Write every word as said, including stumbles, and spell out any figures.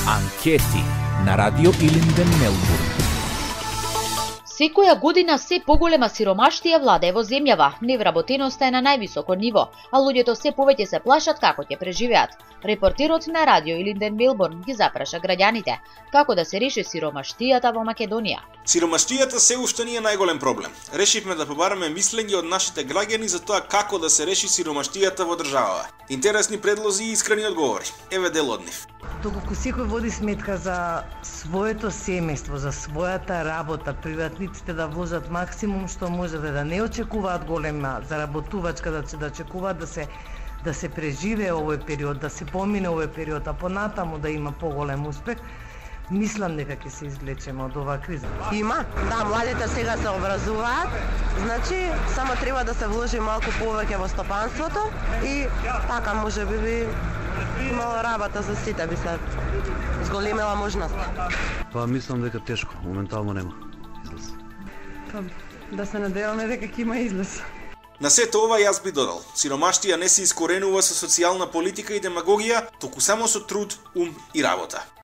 Анкети на Радио Илинден, Мелбурн. Секоја година се поголема сиромаштија владее во земјава, невработеноста е на највисоко ниво, а луѓето се повеќе се плашат како ќе преживеат. Репортерот на Радио Илинден, Мелбурн ги запраша граѓаните како да се реши сиромаштијата во Македонија. Сиромаштијата се уште не е најголем проблем. Решивме да побараме мислење од нашите граѓани за тоа како да се реши сиромаштијата во државава. Интересни предлози и искрени одговори. Еве дел од нив. Доколку секој води сметка за своето семејство, за својата работа, приватниците да вложат максимум што можат, да не очекуваат голема заработувачка, да се да очекуваат да се да се преживее овој период, да се помине овој период, а понатаму да има поголем успех, мислам дека ќе се извлечеме од оваа криза. Има, да, младите сега се образуваат, значи само треба да се вложи малку повеќе во стопанството и така може би би имало работа за сите, би се зголемила можност. Па мислам дека тешко, моментално нема излез. Па да се надеваме дека ќе има излез. На сето ова јас би додал, сиромаштија не се искоренува со социјална политика и демагогија, туку само со труд, ум и работа.